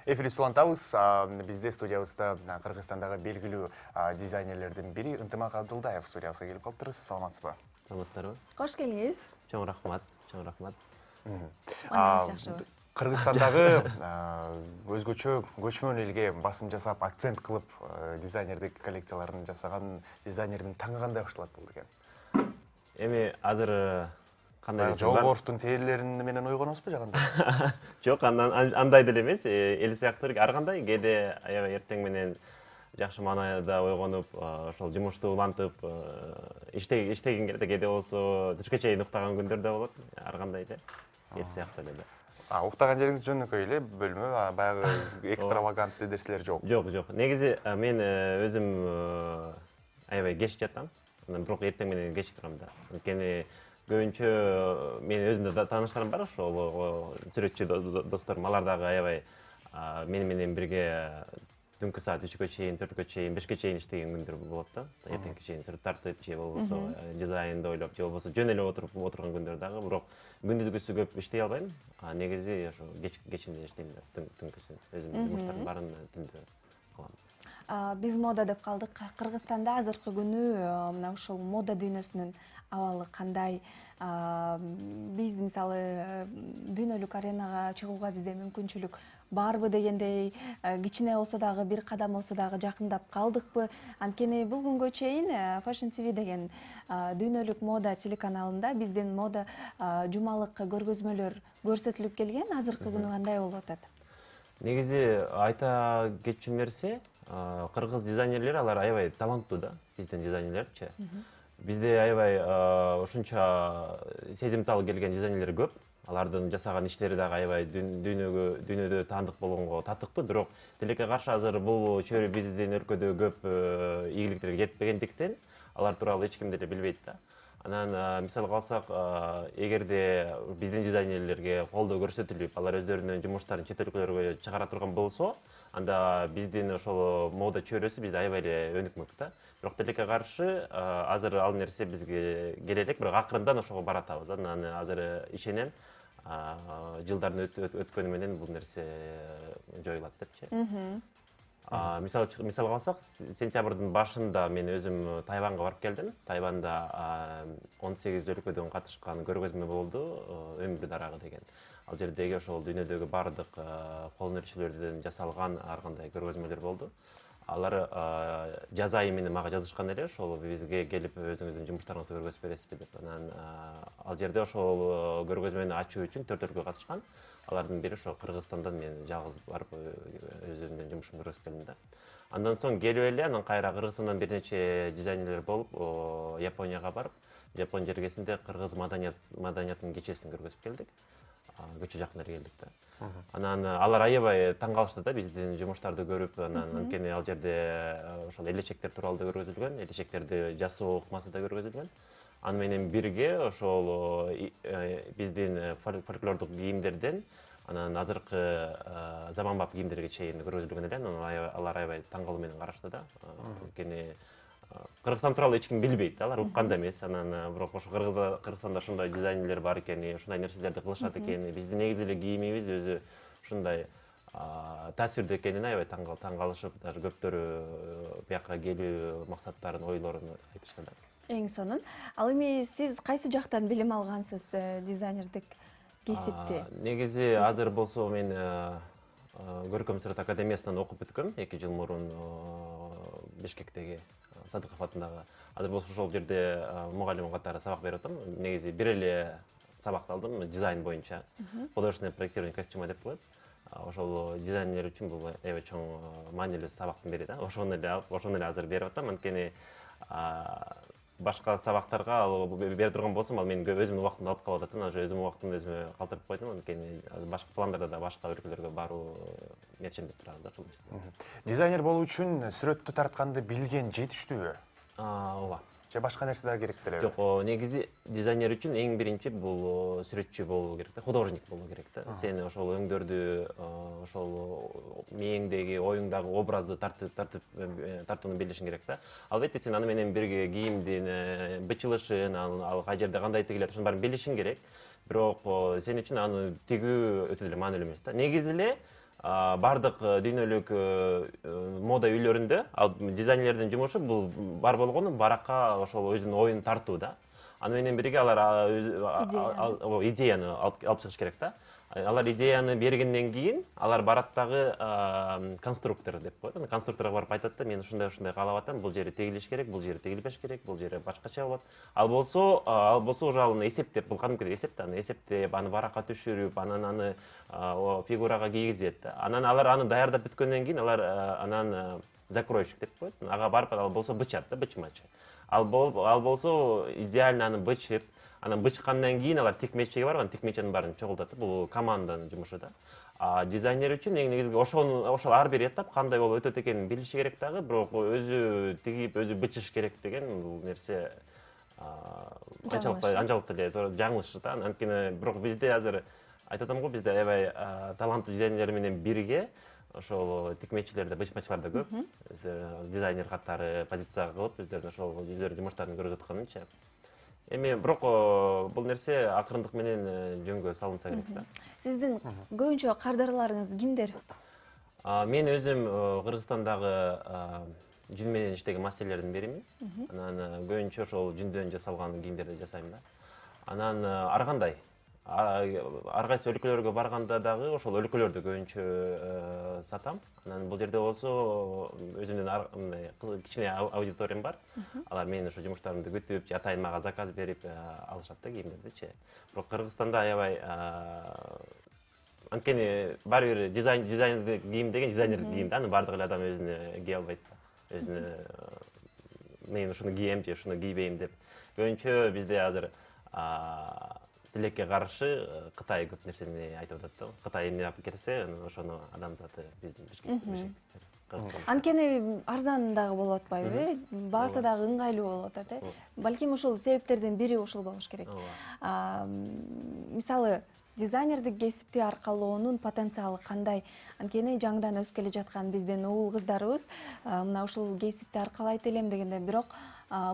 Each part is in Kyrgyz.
Эфирди улантабыз. Бизде студиябызда Кыргызстандагы белгилүү дизайнерлердин бири Ынтымак Абдулдаев студиябызга келип калыптыр. Саламатсызбы? Саламатсыздарбы? Кош келиңиз. Чоң рахмат, чоң рахмат. Манаңыз жакшыбы? Кыргызстандагы өзгөчө көчмөн элге басым жасап, акцент кылып дизайнердик коллекцияларын жасаган дизайнердин таңы кандай башталат болду экен? Эми азыр кандай Жол борштун тейлерин менен ойгоносузбу же кандай? Жок, андай деле эмес, эл сыяктуу ар кандай кээде аябай эртең менен жакшы маанайда ойгонуп, ошол жумушту улантып, иштеген кезде кээде болсо түшкө чейин уктаган күндөр да болот. Ар кандай эле эл сыяктуу эле. Уктаган жериңиз жөнөкөй эле бөлмө, баягы экстравагантный нерселер жок. Жок. Негизи мен өзүм аябай кеч жатам. Бирок эртең менен кеч турам да. Анткени көбүнчө мен өзүмдө тааныштарым бар, ошол сүрөтчү досторум, алар дагы аябай менен бирге түнкү саат 3-кө чейин, 4-кө чейин, 5-ке чейин иштеген күндөр болот да. Эртеңки чейин сүрөт тартып, же болбосо дизайнды ойлоп, же болбосо жөн эле отурган күндөр дагы. Бирок күндүзгүсү көп иштей албайм. Негизи ошо кечинде иштейм да, түнкүсүн. Өзүмдүн жумуштардын баарын түндө кылам. Биз мода деп калдык. Кыргызстанда азыркы күнү мына ушул мода дүйнөсүнүн абалы кандай? Биз мисалы дүйнөлүк аренага чыгууга бизде мүмкүнчүлүк барбы дегендей, кичине болсо дагы бир кадам болсо дагы жакындап калдыкпы? Анткени бул күнгө чейин Fashion TV деген дүйнөлүк мода телеканалында биздин мода жумалык көргөзмөлөр көрсөтүлүп келген. Азыркы күнү кандай болуп атат? Негизи айта кетчү нерсе, кыргыз дизайнерлери алар аябай таланттуу да, биздин дизайнерлерчи. Бизде аябай ушунча сезимтал келген дизайнерлер көп. Алардын жасаган иштери дагы аябай дүйнөдө таандык болгонго татыктуу. Бирок тилекке каршы азыр бул чөйрө биздин өлкөдө көп ийгиликтерге жетпегендиктен алар тууралуу эч ким деле билбейт да. Анан мисалга алсак, эгерде биздин дизайнерлерге колдоо көрсөтүлүп, алар өздөрүнүн жумуштарын чет өлкөлөргө чыгара турган болсо, анда биздин ошол мода чөйрөсү бизде аябай эле өнүкмөк да. Бирок тилекке каршы азыр ал нерсе бизге келе элек, бирок акырындан ошого баратабыз. Анан азыр ишенем, жылдардын өткөнү менен бул нерсе жоюлат депчи. Мисалга алсак, сентябрдын башында мен өзүм Тайванга барып келдим. Тайванда 18 өлкөдөн катышкан көргөзмө болду, өмүр дарагы деген. Ал жердеги ошол дүйнөдөгү бардык кол өнөрчүлөрдөн жасалган ар кандай көргөзмөлөр болду. Алар жаз айы менен мага жазышкан эле, ошол бизге келип өзүңүздүн жумуштарыңызды көргөзүп бересизби деп. Анан ал жерде ошол көргөзмөнү ачуу үчүн 4 өлкө катышкан. Алардын бири ошо Кыргызстандан мен жалгыз барып өзүмдүн жумушумду көргөзүп келдим да. Андан соң келип эле, анан кайра Кыргызстандан бир нече дизайнерлер болуп, Японияга барып, Жапон жергесинде кыргыз маданиятынын кечесин көргөзүп келдик. Көчө жакын эле келдик да. Анан алар аябай таң калышты да биздин жумуштарды көрүп, анткени ал жерде ошол элечектер тууралуу да көргөзүлгөн, элечектерди жасоо ыкмасы да көргөзүлгөн. Аны менен бирге ошол биздин фольклордук кийимдерден анан азыркы заманбап кийимдерге чейин көргөзүлгөн эле. Анан алар аябай таң калуу менен карашты да. Анткени Кыргызстан тууралуу эч ким билбейт да, алар уккан да эмес. Анан бирок ошо Кыргызстанда ушундай дизайнерлер бар экен, ушундай нерселерди кылышат экен. Биздин негизи эле кийимибиз өзү ушундай таасирдүү экенине аябай таң калышып, даже көптөрү бияка келүү максаттарын, ойлорун айтышты да. Эң сонун. Ал эми сиз кайсы жактан билим алгансыз дизайнердик кесипти? Негизи азыр болсо мен Көркөм Сүрөт академиясынан окуп бүткөм 2 жыл мурун Бишкектеги Садыков атындагы. Азыр болсо ошол жерде мугалим катары сабак берип атам. Негизи бир эле сабакты алдым, дизайн боюнча. Художественное проектирование костюма деп коет. Ошол дизайнер үчүн бул аябай чоң маанилүү сабактын бири да. Ошону эле азыр берип атам. Анткени башка сабактарга бере турган болсом, ал менин өзүмдүн убактымды алып калып атат. Ошо өзүмдүн убактымды өзүмө калтырып койдум. Анткени башка пландарда да башка өлкөлөргө баруу мечендеп турат да. Дизайнер болуу үчүн сүрөттү тартканды билген жетиштүүбү? Ооба. Же башка нерсе дагы керек делеби? Жок, негизи дизайнер үчүн эң биринчи бул сүрөтчү болуу керек да, художник болуу керек да. Сен ошол өңдөрдү, ошол мээңдеги, оюңдагы образды тартууну билишиң керек да. Албетте сен аны менен бирге кийимдин бычылышын, ал кай жерде кандай тигилет, ошонун баарын билишиң керек. Бирок сен үчүн аны тигүү өтө эле маанилүү эмес да. Негизи эле бардык дүйнөлүк мода үйлөрүндө ал дизайнерлердин жумушу бул бар болгону баракка ошол өзүнүн оюн тартуу да. Аны менен бирге алар идеяны алып чыгыш керек да. Алар идеяны бергенден кийин алар барат дагы конструктор деп коет. Конструкторго барып айтат да, мен ушундай каалап атам, бул жери тегилиш керек, бул жери тегилбеш керек, бул жери башкача болот. Ал болсо уже аны эсептеп, бул кадимкидей эсеп да, аны эсептеп, аны баракка түшүрүп, анан аны фигурага кийгизет да. Анан алар аны даярдап бүткөндөн кийин алар анан закройщик деп коет. Ага барып ал болсо бычат да, бычмачы. Ал болсо идеально аны бычып, анан бычкандан кийин алар тикмечеге барып, анан тикмеченин баарын чогултат. Бул команданын жумушу да. Дизайнер үчүн эң негизги ошол ар бир этап кандай болуп өтөт экенин билиши керек дагы, бирок өзү тигип, өзү бычыш керек деген бул нерсе анчалык эле жаңылыш да. Анткени бирок бизде азыр айтып атам го, бизде аябай таланттуу дизайнерлер менен бирге ошол тикмечилер да, бычмачылар да көп. Дизайнер катары позицияга кылып, өздөрүнүн ошол жумуштарын көрүп атканынча. Эми бирок бул нерсе акырындык менен жөнгө салынса керек да. Сиздин көбүнчө кардарларыңыз кимдер? Мен өзүм Кыргызстандагы жүн менен иштеген мастерлердин биримин. Анан көбүнчө ошол жүндөн жасалган кийимдерди жасайм да. Анан ар кандай ар кайсы өлкөлөргө барганда дагы ошол өлкөлөрдү көбүнчө сатам. Анан бул жерде болсо өзүмдүн кичине аудиториям бар. Алар менин ошо жумуштарымды күтүп, же атайын мага заказ берип алышат да кийимдердичи. Бирок Кыргызстанда аябай анткени баары бир дизайнерлик кийим деген дизайнерлик кийим да. Аны бардык эле адам өзүнө кие албайт да. Өзүнө мен ушуну кийем же ушуну кийбейм деп. Көбүнчө бизде азыр тилекке каршы Кытай көп нерсени айтып атат да. Кытай эмне алып келсе, ошону адамзаты биздин бишкек. Анткени арзан дагы болуп атпайбы? Баасы дагы ыңгайлуу болуп атат, Балким ошол себептердин бири ошол болуш керек. Мисалы, дизайнердик кесипти аркалоонун потенциалы кандай? Анткени жаңыдан өсүп келе жаткан биздин уул кыздарыбыз мына ушул кесипти аркалайт элем дегенде, бирок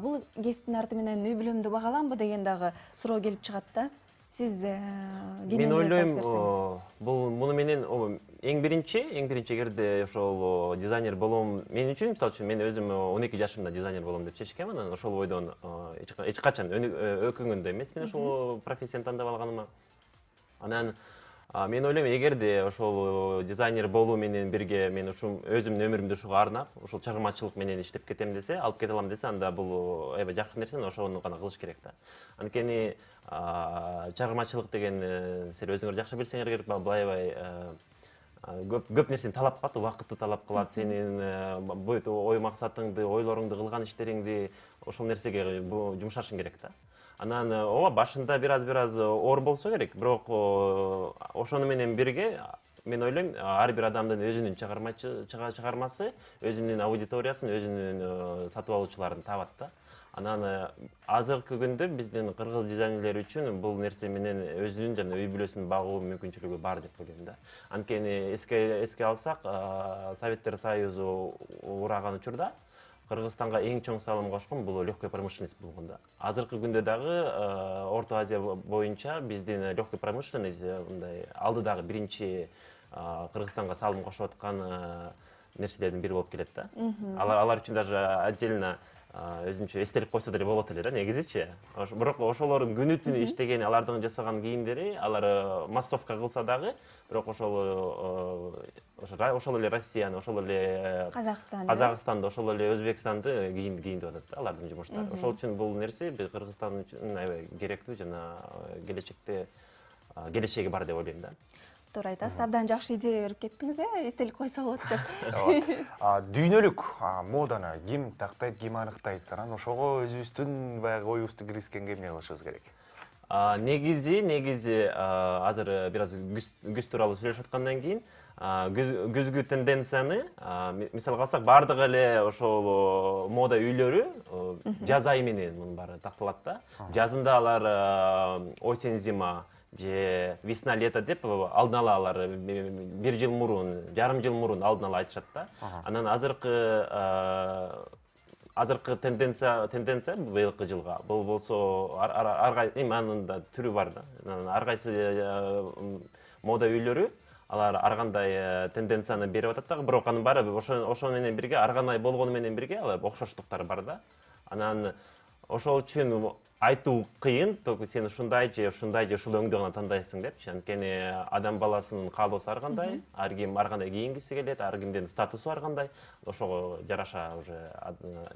бул кесиптин арты менен үй бүлөмдү багаламбы деген дагы суроо келип чыгат да. Сиз мен ойлойм, муну менен эң биринчи эгерде ошол дизайнер болом, мен үчүн, мисалы үчүн, мен өзүм 12 жашымда дизайнер болом деп чечкем, анан ошол ойдон эч качан өкүнгөн да эмесмин ошол профессияны тандап алганыма. Анан мен ойлойм, эгерде ошол дизайнер болуу менен бирге мен ушул өзүмдүн өмүрүмдү ушуга арнап, ушул чыгармачылык менен иштеп кетем десе, алып кете алам десе, анда бул аябай жакшы нерсе, ошону гана кылыш керек да. Анткени чыгармачылык деген силер өзүңөр жакшы билсеңер керек, бул аябай көп нерсени талап кылат, убакытты талап кылат, сенин бүт ой максатыңды, ойлоруңду, кылган иштериңди ошол нерсеге жумшашың керек да. Анан ооба башында бир аз оор болсо керек, бирок ошону менен бирге мен ойлойм, ар бир адамдын өзүнүн чыгармасы, өзүнүн аудиториясын, өзүнүн сатып алуучуларын табат да. Анан азыркы күндө биздин кыргыз дизайнерлери үчүн бул нерсе менен өзүнүн жана үй бүлөсүн багуу мүмкүнчүлүгү бар деп ойлойм да. Анткени эске алсак, Советтер Союзу ураган учурда Кыргызстанга эң чоң салым кошкон бул легкая промышленность болгон да. Азыркы күндө дагы Орто Азия боюнча биздин легкая промышленность мындай алдыдагы биринчи Кыргызстанга салым кошуп аткан нерселердин бири болуп келет да. Алар үчүн даже отдельно өзүнчө эстелик койсо деле болот эле да негизичи. Бирок ошолордун күнү түнү иштеген, алардын жасаган кийимдери алар массовка кылса дагы, бирок ошол эле Россияны, ошол эле Казакстанды, ошол эле Өзбекстанды кийиндип атат да алардын жумуштары. Ошол үчүн бул нерсе Кыргызстан үчүн аябай керектүү жана келечеги бар деп ойлойм да. Туура айтасыз, абдан жакшы идея берип кеттиңиз, эстелик койсо болот деп. Дүйнөлүк моданы ким тактайт, ким аныктайт? Анан ошого өзүбүздүн баягы оюбузду киргизгенге эмне кылышыбыз керек? Негизи азыр бир аз күз тууралуу сүйлөшүп аткандан кийин күзгү тенденцияны мисалга алсак, бардык эле ошол мода үйлөрү жаз айы менен мунун баары такталат да. Жазында алар осень зима же весна лето деп алдын ала алар бир жыл мурун, жарым жыл мурун алдын ала айтышат да. Анан азыркы тенденция быйылкы жылга бул болсо анын да түрү бар да. Ар кайсы мода үйлөрү алар ар кандай тенденцияны берип атат дагы, бирок анын баары ошо менен бирге ар кандай болгону менен бирге алар окшоштуктар бар да. Анан ошол үчүн айтуу кыйын, сен ушундай же ушул өңдү гана тандайсың депчи. Анткени адам баласынын каалоосу ар кандай, ар ким ар кандай кийингиси келет, ар кимдин статусу ар кандай. Ошого жараша уже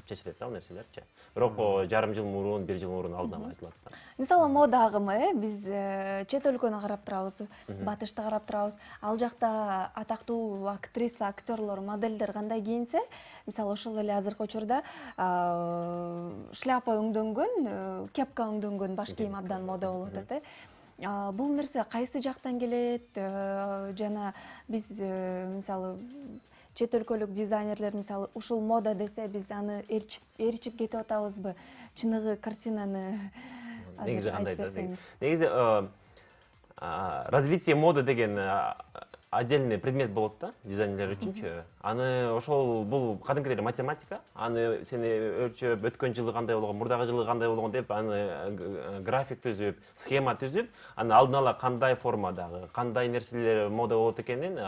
чечилет да ал нерселерчи. Бирок жарым жыл мурун, 1 жыл мурун алдын ала айтылат да. Мисалы мода агымы, биз чет өлкөнү карап турабыз, батышты карап турабыз. Ал жакта атактуу актриса, актерлор, модельдер кандай кийинсе, мисалы ошол эле азыркы учурда шляпа өңдөнгөн, кепка өңдөнгөн баш кийим абдан мода болуп атат. Бул нерсе кайсы жактан келет? Жана биз мисалы чет өлкөлүк дизайнерлер мисалы ушул мода десе биз аны ээрчип кетип атабызбы? Чыныгы картинаны азыр айтып берсеңиз. Негизи развитие моды деген отдельный предмет болот да дизайнерлер үчүнчү. Аны ошол бул кадимкидей эле математика. Аны сени өлчөп, өткөн жылы кандай болгон, мурдагы жылы кандай болгон деп аны график түзүп, схема түзүп, аны алдын ала кандай формадагы, кандай нерселер мода болот экенин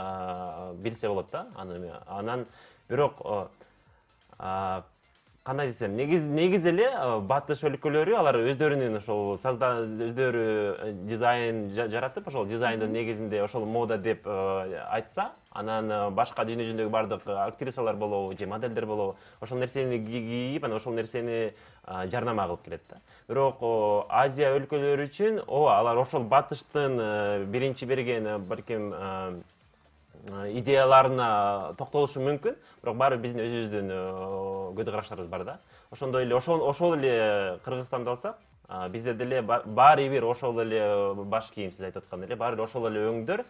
билсе болот да. Анан бирок кандай десем, негизи эле батыш өлкөлөрү алар өздөрүнүн ошол өздөрү дизайн жаратып, ошол дизайндын негизинде ошол мода деп айтса, анан башка дүйнө жүзүндөгү бардык актрисалар болобу же модельдер болобу ошол нерсени кийип, анан ошол нерсени жарнама кылып келет да. Бирок Азия өлкөлөрү үчүн алар ошол батыштын биринчи берген балким идеяларына токтолушу мүмкүн, бирок баары биздин өзүбүздүн көз караштарыбыз бар да. Ошондой эле ошол эле Кыргызстанды алсак, бизде деле баары бир ошол эле баш кийим, сиз айтып аткан эле, баары ошол эле өңдөр,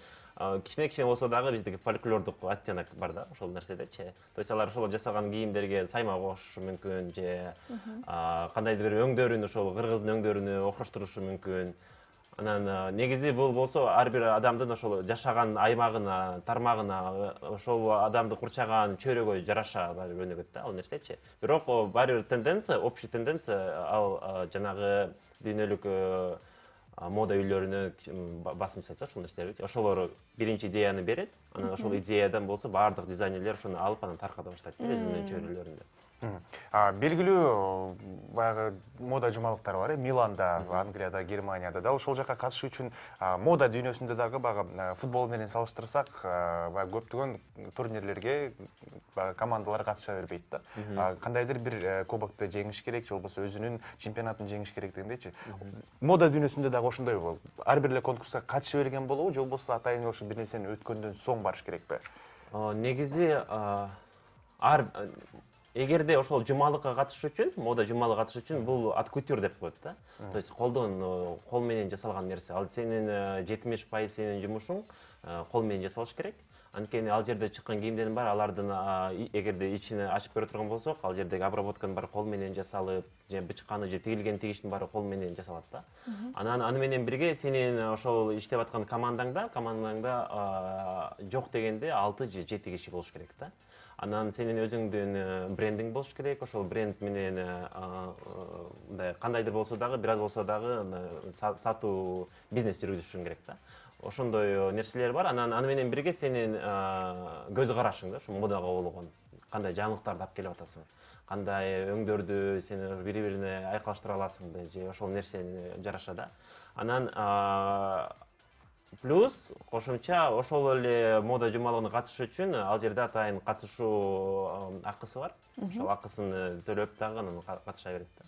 кичине болсо дагы биздеги фольклордук оттенок бар да ошол нерседечи. То есть алар ошол жасаган кийимдерге сайма кошушу мүмкүн же кандайдыр бир өңдөрүн ошол кыргыздын өңдөрүнө окшоштурушу мүмкүн. Анан негизи бул болсо ар бир адамдын ошол жашаган аймагына, тармагына, ошол адамды курчаган чөйрөгө жараша өнүгөт да ал нерсечи. Бирок баары бир тенденция, общий тенденция ал жанагы дүйнөлүк мода үйлөрүнө басым жасайт ошол нерселерди. Ошолор биринчи идеяны берет, анан ошол идеядан болсо баардык дизайнерлер ошону алып анан тарката баштайт өзүнүн чөйрөлөрүндө. Белгилүү баягы мода жумалыктар бар, Миланда, Англияда, Германияда да. Ошол жака катышуу үчүн мода дүйнөсүндө дагы баягы футбол менен салыштырсак, баягы көптөгөн турнирлерге командалар катыша бербейт да. Кандайдыр бир кубокты жеңиш керек, же болбосо өзүнүн чемпионатын жеңиш керек дегендейчи. Мода дүйнөсүндө дагы ошондой болот. Ар бир эле конкурска катыша берген болобу, же болбосо атайын ошо бир нерсени өткөндөн соң барыш керекпи? Негизи эгерде ошол жумалыкка катышуу үчүн, мода жумалыкка катышуу үчүн бул от кутюр деп коет да. То есть кол менен жасалган нерсе. Ал сенин 70% сенин жумушуң кол менен жасалыш керек. Анткени ал жерде чыккан кийимдердин баары алардын эгерде ичине ачып көрө турган болсок, ал жердеги обработканын баары кол менен жасалып, же бычканы же тигилген тигиштин баары кол менен жасалат да. Анан аны менен бирге сенин ошол иштеп аткан командаңда жок дегенде 6 же 7 киши болуш керек да. Анан сенин өзүңдүн брендиң болуш керек, ошол бренд менен мындай кандайдыр болсо дагы, бир аз болсо дагы сатуу бизнес жүргүзүшүң керек да. Ошондой нерселер бар. Анан аны менен бирге сенин көз карашың да, ошо модага болгон кандай жаңылыктарды алып келип атасың, кандай өңдөрдү сен бири-бирине айкалыштыра аласыңбы, же ошол нерсени жараша да. Анан плюс кошумча ошол эле мода жумалыгына катышуу үчүн ал жерде атайын катышуу акысы бар. Ошол акысын төлөп дагы анан катыша берет да.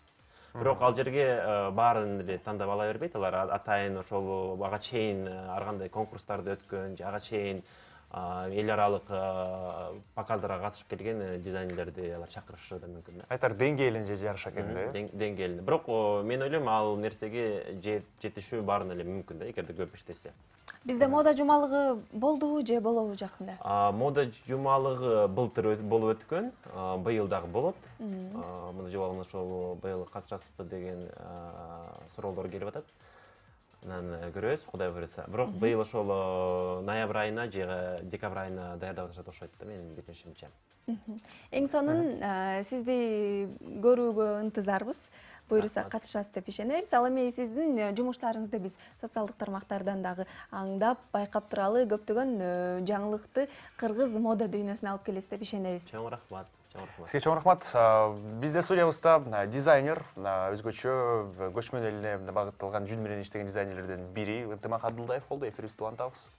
Бирок ал жерге баарын эле тандап ала бербейт. Алар атайын ошол ага чейин ар кандай конкурстарды өткөн, же ага чейин эл аралык показдарга катышып келген дизайнерлерди алар чакырышы да мүмкүн да. Айтар деңгээлинче жараша экен да. Деңгээлинде. Бирок мен ойлойм ал нерсеге жетишүү баарын эле мүмкүн да, эгерде көп иштесе. Бизде мода жумалыгы болдубу же болобу жакында? Мода жумалыгы былтыр болуп өткөн, быйыл дагы болот. Мода жумалыгына ошол быйыл катышасызбы деген суроолор келип атат. Анан көрөбүз, Кудай буйруса. Бирок быйыл ошол ноябрь айына же декабрь айына даярдап атышат окшойт да, менин билишимче. Эң сонун сизди көрүүгө ынтызарбыз. буюрса катышасыз деп ишенебиз. Ал эми сиздин жумуштарыңызды биз социалдык тармактардан дагы аңдап, байкап туралы көптөгөн жаңылыкты кыргыз мода дүйнөсүнө алып келесиз деп ишенебиз. Чоң рахмат. Сизге чоң рахмат. Бизде студиябызда дизайнер, өзгөчө көчмөн элине багытталган жүн менен иштеген дизайнерлерден бири Ынтымак Абдулдаев болду. Эфирибизди улантабыз.